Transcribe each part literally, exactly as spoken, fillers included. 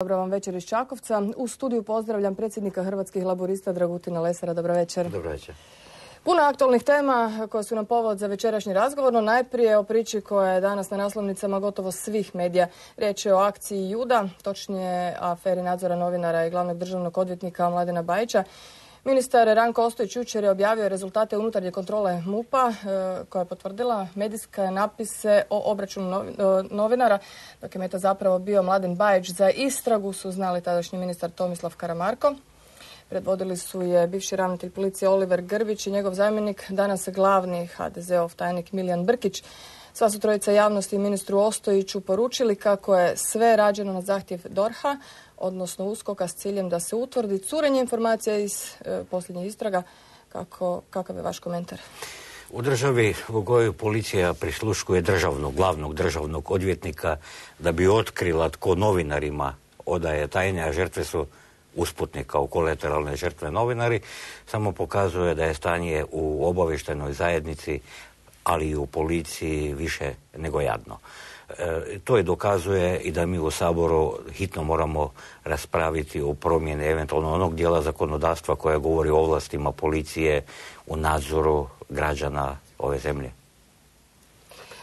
Dobro vam večer iz Čakovca. U studiju pozdravljam predsjednika Hrvatskih laburista Dragutina Lesara. Dobro večer. Dobro večer. Puno aktualnih tema koje su nam povod za večerašnji razgovor, no najprije o priči koja je danas na naslovnicama gotovo svih medija. Riječ je o akciji Juda, točnije aferi nadzora novinara i glavnog državnog odvjetnika Mladena Bajića. Ministar Ranko Ostojić jučer je objavio rezultate unutarnje kontrole MUP-a koja je potvrdila medijske napise o obračunu novinara. Dok je meta zapravo bio Mladen Bajić, za istragu su znali tadašnji ministar Tomislav Karamarko. Predvodili su je bivši ravnatelj policije Oliver Grbić i njegov zamjenik, danas glavni ha de ze ov tajnik Milijan Brkić. Sva su trojica javnosti i ministru Ostojiću poručili kako je sve rađeno na zahtjev DORH-a, odnosno USKOK-a, s ciljem da se utvrdi curenje informacija iz e, posljednjih istraga. Kako, kakav je vaš komentar? U državi u kojoj policija prisluškuje državnog, glavnog državnog odvjetnika da bi otkrila tko novinarima odaje tajne, a žrtve su usputni kao kolateralne žrtve novinari, samo pokazuje da je stanje u obavještajnoj zajednici, ali i u policiji više nego jadno. E, to je dokazuje i da mi u Saboru hitno moramo raspraviti o promjeni eventualno onog dijela zakonodavstva koja govori o ovlastima policije u nadzoru građana ove zemlje.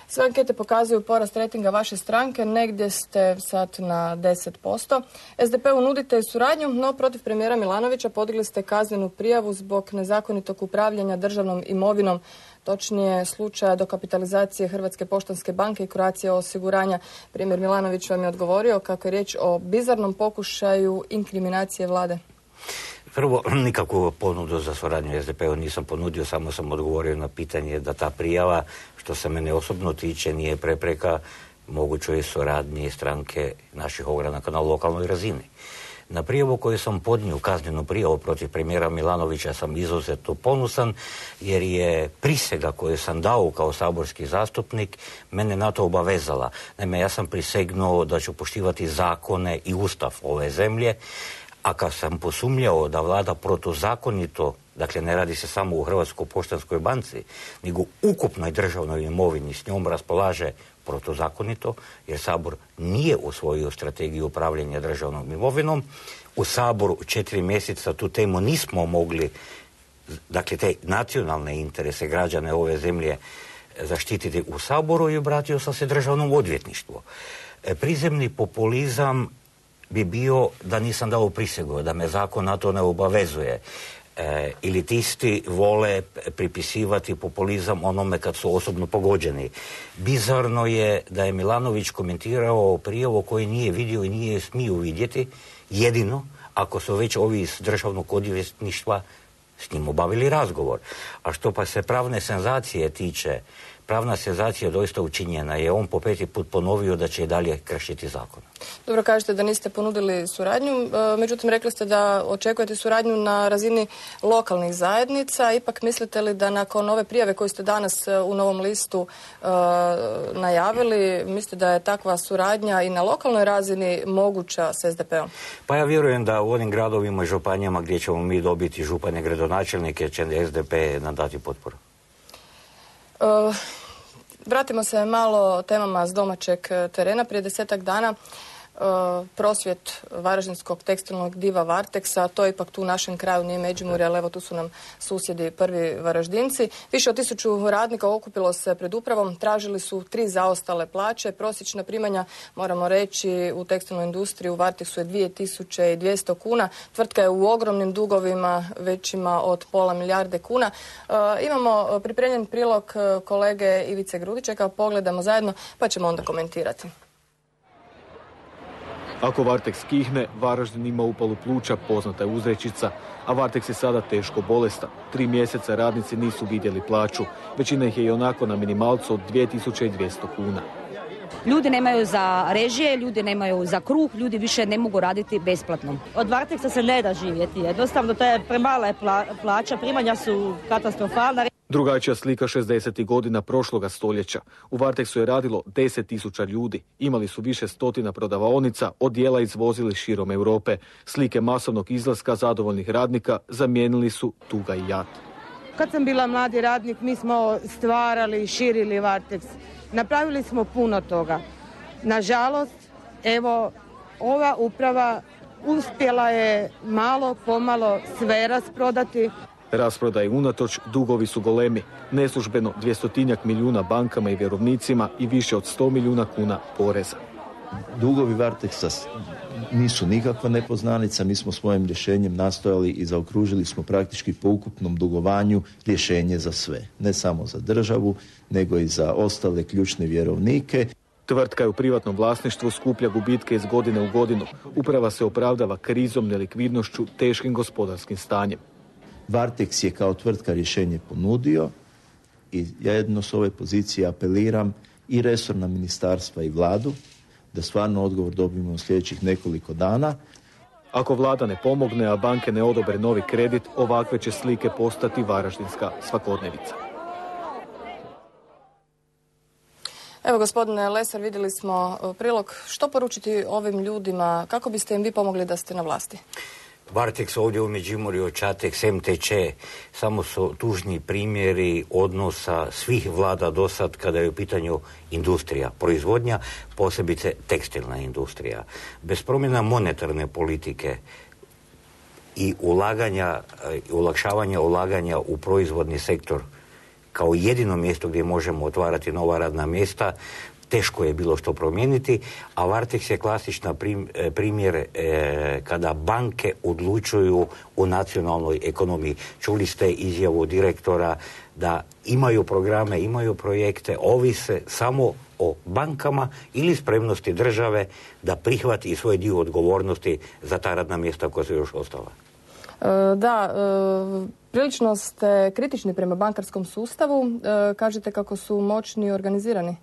Sve ankete pokazuju porast rejtinga vaše stranke, negdje ste sad na deset posto. es de pe-u nudite suradnju, no protiv premijera Milanovića podigli ste kaznenu prijavu zbog nezakonitog upravljanja državnom imovinom, točnije slučaja dokapitalizacije Hrvatske poštanske banke i Croatia osiguranja. Premijer Milanović vam je odgovorio kako je riječ o bizarnom pokušaju inkriminacije vlade. Prvo, nikakvu ponudu za suradnju es de pe-u nisam ponudio, samo sam odgovorio na pitanje da ta prijava, što se mene osobno tiče, nije prepreka mogućoj suradnji stranke naših ogranaka na lokalnoj razini. Na prijavu koju sam podnio, kaznenu prijavu protiv premijera Milanovića, sam izuzetno ponosan jer je prisega koju sam dao kao saborski zastupnik mene na to obavezala. Naime, ja sam prisegnuo da ću poštivati zakone i ustav ove zemlje, a kad sam posumnjao da vlada protuzakonito, dakle ne radi se samo u Hrvatskoj poštanskoj banci, nego ukupnoj državnoj imovini s njom raspolaže protuzakonito, jer Sabor nije usvojio strategiju upravljanja državnom imovinom. U Saboru četiri mjeseca tu temu nismo mogli, dakle te nacionalne interese građane ove zemlje zaštititi u Saboru, i obratio sam se državnom odvjetništvu. Prizemni populizam bi bio da nisam dao prisegu, da me zakon na to ne obavezuje. E, elitisti vole pripisivati populizam onome kad su osobno pogođeni. Bizarno je da je Milanović komentirao prijavu koji nije vidio i nije smio vidjeti, jedino ako su već ovi iz državnog odvjetništva s njim obavili razgovor. A što pa se pravne senzacije tiče, pravna senzacija doista učinjena je. On po peti put ponovio da će i dalje kršiti zakon. Dobro, kažete da niste ponudili suradnju, međutim rekli ste da očekujete suradnju na razini lokalnih zajednica. Ipak mislite li da nakon ove prijave koju ste danas u Novom listu uh, najavili, mislite da je takva suradnja i na lokalnoj razini moguća s es de pe-om? Pa ja vjerujem da u onim gradovima i županijama gdje ćemo mi dobiti župane, gradonačelnike, će es de pe nam dati potporu. Uh, vratimo se malo temama s domaćeg terena. Prije desetak dana uh, prosvjet varaždinskog tekstilnog diva Varteksa, to je ipak tu u našem kraju, nije Međimurje, ali evo tu su nam susjedi prvi Varaždinci. Više od tisuću radnika okupilo se pred upravom, tražili su tri zaostale plaće. Prosječna primanja, moramo reći, u tekstilnoj industriji u Varteksu je dvije tisuće dvjesto kuna. Tvrtka je u ogromnim dugovima, većima od pola milijarde kuna. Uh, imamo pripremljen prilog kolege Ivice Grudičeka, pogledamo zajedno pa ćemo onda komentirati. Ako Varteks kihne, Varaždin ima upalu pluća, poznata je uzrečica, a Varteks je sada teško bolestan. Tri mjeseca radnici nisu vidjeli plaću, većina ih je i onako na minimalcu od dvije tisuće dvjesto kuna. Ljudi nemaju za režije, ljudi nemaju za kruh, ljudi više ne mogu raditi besplatno. Od Varteksa se ne da živjeti, jednostavno to je premala pla, plaća, primanja su katastrofalna. Drugačija slika šezdesetih godina prošloga stoljeća. U Varteksu je radilo deset tisuća ljudi. Imali su više stotina prodavaonica, odjela izvozili širom Europe. Slike masovnog izlaska zadovoljnih radnika zamijenili su tuga i jad. Kad sam bila mladi radnik, mi smo stvarali i širili Varteks. Napravili smo puno toga. Nažalost, evo, ova uprava uspjela je malo pomalo sve rasprodati. Rasprodaje unatoč, dugovi su golemi. Neslužbeno dvjestotinjak milijuna bankama i vjerovnicima i više od sto milijuna kuna poreza. Dugovi Varteksa nisu nikakva nepoznanica. Mi smo svojim rješenjem nastojali i zaokružili smo praktički po ukupnom dugovanju rješenje za sve. Ne samo za državu, nego i za ostale ključne vjerovnike. Tvrtka je u privatnom vlasništvu, skuplja gubitke iz godine u godinu. Uprava se opravdava krizom, nelikvidnošću, teškim gospodarskim stanjem. Varteks je kao tvrtka rješenje ponudio i ja jedno s ove pozicije apeliram i resorna ministarstva i vladu da stvarno odgovor dobijemo u sljedećih nekoliko dana. Ako vlada ne pomogne, a banke ne odobre novi kredit, ovakve će slike postati varaždinska svakodnevica. Evo, gospodine Lesar, vidjeli smo prilog. Što poručiti ovim ljudima? Kako biste im vi pomogli da ste na vlasti? Varteks ovdje u Međimurju, Čateks, M T Č, samo su tužni primjeri odnosa svih vlada do sad kada je u pitanju industrija, proizvodnja, posebice tekstilna industrija. Bez promjena monetarne politike i ulaganja, olakšavanja ulaganja u proizvodni sektor kao jedino mjesto gdje možemo otvarati nova radna mjesta, teško je bilo što promijeniti, a Varteks je klasična primjer e, kada banke odlučuju u nacionalnoj ekonomiji. Čuli ste izjavu direktora da imaju programe, imaju projekte, ovise samo o bankama ili spremnosti države da prihvati i svoj dio odgovornosti za ta radna mjesta koja su još ostala. E, da, e, prilično ste kritični prema bankarskom sustavu. E, kažete kako su moćni i organizirani.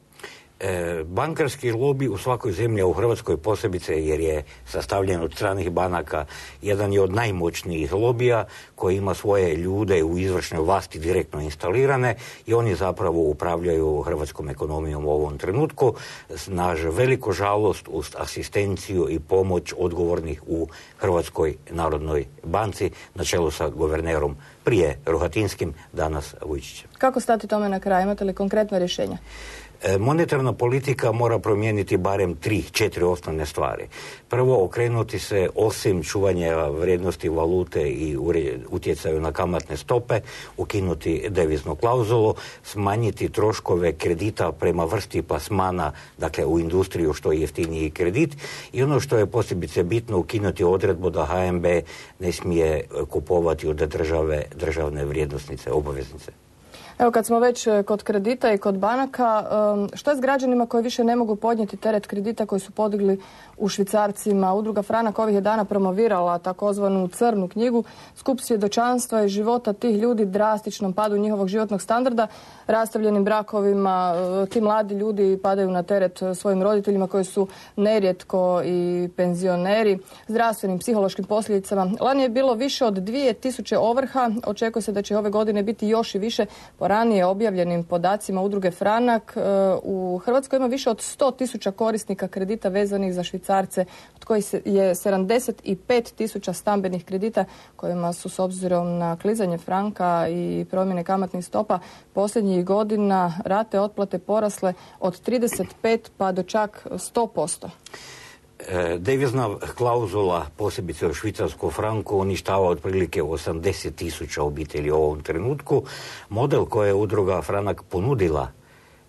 E, bankarski lobi u svakoj zemlji, u Hrvatskoj posebice jer je sastavljen od stranih banaka, jedan je od najmoćnijih lobija koji ima svoje ljude u izvršnoj vlasti direktno instalirane i oni zapravo upravljaju hrvatskom ekonomijom u ovom trenutku. Na veliku žalost uz asistenciju i pomoć odgovornih u Hrvatskoj narodnoj banci na čelu sa guvernerom, prije Rohatinskim, danas Vujčićem. Kako stati tome na kraj? Imate li konkretno rješenja? Monetarna politika mora promijeniti barem tri, četiri osnovne stvari. Prvo, okrenuti se osim čuvanja vrijednosti valute i utjecaju na kamatne stope, ukinuti deviznu klauzulu, smanjiti troškove kredita prema vrsti plasmana, dakle u industriju što je jeftiniji kredit, i ono što je posebice bitno, ukinuti odredbu da H N B ne smije kupovati od države državne vrijednosnice, obaveznice. Evo, kad smo već kod kredita i kod banaka, što je s građanima koji više ne mogu podnijeti teret kredita koji su podigli u švicarcima? Udruga Franak ovih je dana promovirala takozvanu crnu knjigu, skup svjedočanstva i života tih ljudi, drastičnom padu njihovog životnog standarda, rastavljenim brakovima. Ti mladi ljudi padaju na teret svojim roditeljima koji su nerijetko i penzioneri, zdravstvenim, psihološkim posljedicama. Lani je bilo više od dvije tisuće ovrha, očekuje se da će ove godine biti još i više. Po ranije objavljenim podacima Udruge Franak, u Hrvatskoj ima više od sto tisuća korisnika kredita vezanih za švicarce, od kojih je sedamdeset pet tisuća stambenih kredita kojima su s obzirom na klizanje franka i promjene kamatnih stopa posljednjih godina rate otplate porasle od trideset pet pa do čak sto posto. Devizna klauzula, posebice u švicarskom franku, uništava otprilike osamdeset tisuća obitelji u ovom trenutku. Model koji je Udruga Franak ponudila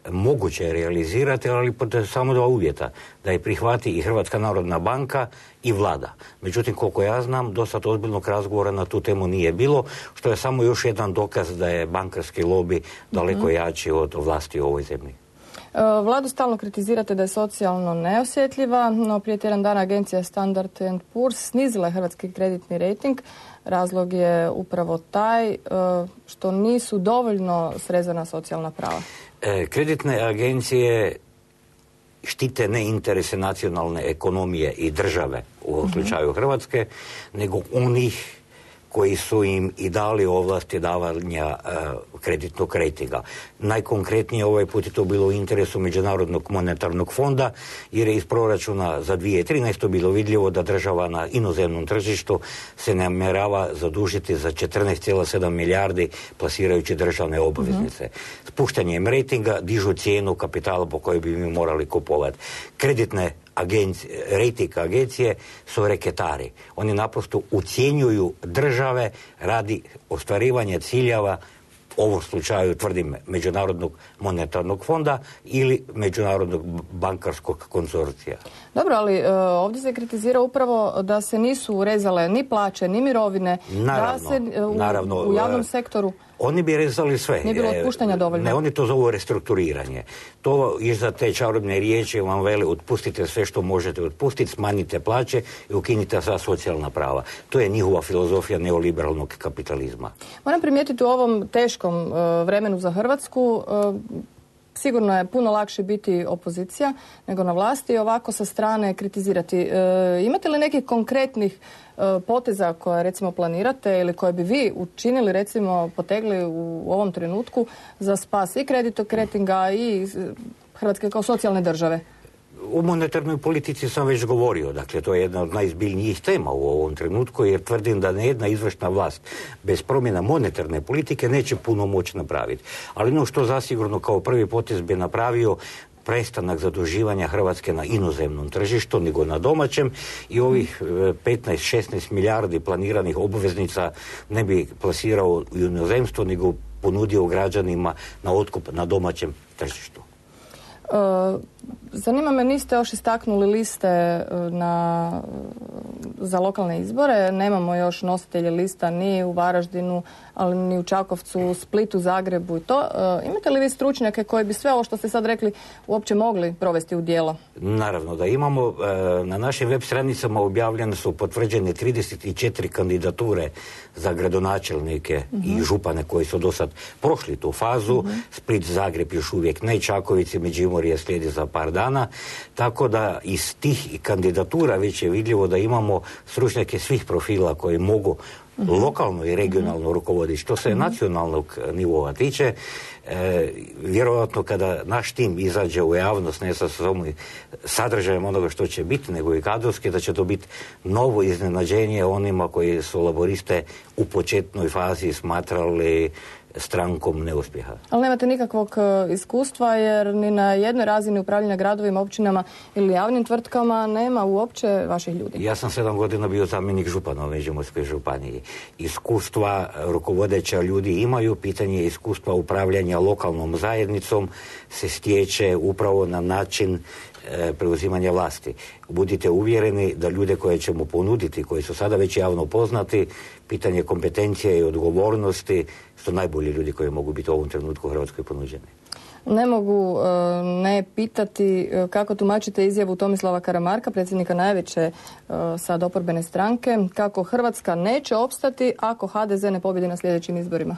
moguće je realizirati, ali pod samo dva uvjeta, da je prihvati i Hrvatska narodna banka i vlada. Međutim, koliko ja znam, do sad ozbiljnog razgovora na tu temu nije bilo, što je samo još jedan dokaz da je bankarski lobi daleko jači od vlasti u ovoj zemlji. Vladu stalno kritizirate da je socijalno neosjetljiva, no prije tjedan dana agencija Standard and Poor's snizila je hrvatski kreditni rejting. Razlog je upravo taj što nisu dovoljno srezana socijalna prava. Kreditne agencije štite ne interese nacionalne ekonomije i države, u ovom slučaju Hrvatske, nego onih koji su im i dali ovlasti davanja uh, kreditnog rejtinga. Najkonkretnije ovaj put je to bilo u interesu Međunarodnog monetarnog fonda, jer je iz proračuna za dvije tisuće trinaestu bilo vidljivo da država na inozemnom tržištu se namjerava zadužiti za četrnaest zarez sedam milijardi plasirajući državne obveznice. Mm-hmm. Spuštanjem rejtinga dižu cijenu kapitala po kojoj bi mi morali kupovati. Kreditne agencije, rejting agencije su reketari. Oni naprosto ucjenjuju države radi ostvarivanja ciljeva, u ovom slučaju tvrdim Međunarodnog monetarnog fonda ili Međunarodnog bankarskog konzorcija. Dobro, ali e, ovdje se kritizira upravo da se nisu urezale ni plaće, ni mirovine, Naravno, da se u, naravno, u javnom sektoru... Oni bi rezali sve. Nije bilo otpuštanja dovoljno. Ne, oni to zovu restrukturiranje. To iza te čarobne riječi vam vele otpustite sve što možete otpustiti, smanjite plaće i ukinite sva socijalna prava. To je njihova filozofija neoliberalnog kapitalizma. Moram primijetiti u ovom teškom uh, vremenu za Hrvatsku, uh, sigurno je puno lakše biti opozicija nego na vlasti i ovako sa strane kritizirati. E, imate li nekih konkretnih e, poteza koje recimo planirate ili koje bi vi učinili, recimo potegli u ovom trenutku za spas i kreditokretinga i Hrvatske kao socijalne države? U monetarnoj politici sam već govorio, dakle to je jedna od najzbiljnijih tema u ovom trenutku, jer tvrdim da nejedna izvršna vlast bez promjena monetarne politike neće puno moći napraviti. Ali ono što zasigurno kao prvi potez bi napravio prestanak zaduživanja Hrvatske na inozemnom tržištu nego na domaćem i ovih petnaest šesnaest milijardi planiranih obveznica ne bi plasirao u inozemstvo nego ponudio građanima na otkup na domaćem tržištu. Uh, zanima me, niste još istaknuli liste na, za lokalne izbore. Nemamo još nositelje lista ni u Varaždinu, ali ni u Čakovcu, Splitu, Zagrebu i to. Uh, imate li vi stručnjake koji bi sve ovo što ste sad rekli uopće mogli provesti u djelo? Naravno da imamo. Uh, na našim web stranicama objavljene su potvrđene trideset četiri kandidature za gradonačelnike uh-huh. i župane koji su do sad prošli tu fazu. Uh-huh. Split, Zagreb još uvijek ne, Čaković i Međimurje slijedi za par dana, tako da iz tih kandidatura već je vidljivo da imamo stručnjake svih profila koji mogu uh-huh. lokalno i regionalno uh-huh. rukovoditi. Što se uh-huh. nacionalnog nivoa tiče, e, vjerojatno kada naš tim izađe u javnost ne sa samo sadržajem onoga što će biti, nego i kadrovski, da će to biti novo iznenađenje onima koji su laboriste u početnoj fazi smatrali strankom neuspjeha. Ali nemate nikakvog iskustva jer ni na jednoj razini upravljanja gradovima, općinama ili javnim tvrtkama nema uopće vaših ljudi. Ja sam sedam godina bio zamjenik župana u Međimurskoj županiji. Iskustva rukovodeća ljudi imaju, pitanje iskustva upravljanja lokalnom zajednicom se stječe upravo na način e, preuzimanja vlasti. Budite uvjereni da ljude koje ćemo ponuditi, koji su sada već javno poznati, pitanje kompetencije i odgovornosti su najbolji ljudi koji mogu biti u ovom trenutku u Hrvatskoj ponuđeni. Ne mogu uh, ne pitati uh, kako tumačite izjavu Tomislava Karamarka, predsjednika najveće uh, sad oporbene stranke, kako Hrvatska neće opstati ako ha de ze ne pobjedi na sljedećim izborima.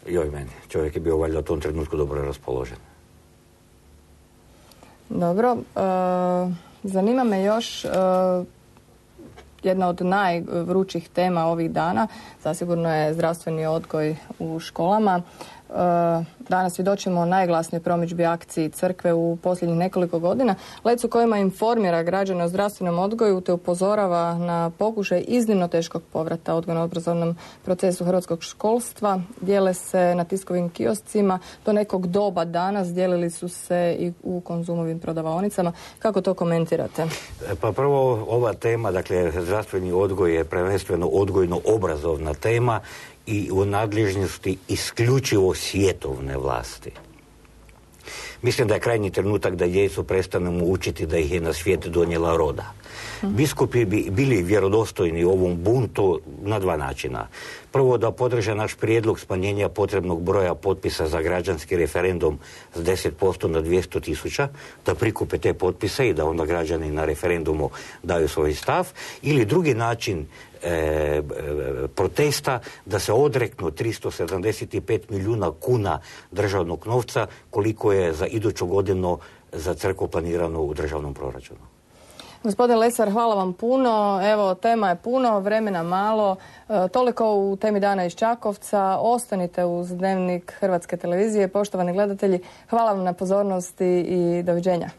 Joj meni, čovjek je bio valjda u tom trenutku dobro raspoložen. Dobro, uh, zanima me još uh, jedna od najvrućih tema ovih dana, zasigurno je zdravstveni odgoj u školama. Danas svjedočimo najglasnijoj promidžbi akciji crkve u posljednjih nekoliko godina. Lec u kojima informira građane o zdravstvenom odgoju te upozorava na pokušaj iznimno teškog povrata odgojno-obrazovnom procesu hrvatskog školstva. Dijele se na tiskovim kioscima. Do nekog doba danas dijelili su se i u Konzumovim prodavaonicama. Kako to komentirate? Pa prvo, ova tema, dakle, zdravstveni odgoj je prvenstveno odgojno-obrazovna tema i u nadležnosti isključivo svjetovne vlasti. Mislim da je krajnji trenutak da djecu prestanemo učiti da ih je na svijet donijela roda. Biskupi bi bili vjerodostojni ovom buntu na dva načina. Prvo, da podrže naš prijedlog smanjenja potrebnog broja potpisa za građanski referendum s deset posto na dvjesto tisuća, da prikupe te potpise i da onda građani na referendumu daju svoj stav. Ili drugi način e, protesta, da se odreknu tristo sedamdeset pet milijuna kuna državnog novca koliko je za iduću godinu za crkvu planirano u državnom proračunu. Gospodin Lesar, hvala vam puno. Evo, tema je puno, vremena malo. E, toliko u temi dana iz Čakovca. Ostanite uz Dnevnik Hrvatske televizije. Poštovani gledatelji, hvala vam na pozornosti i doviđenja.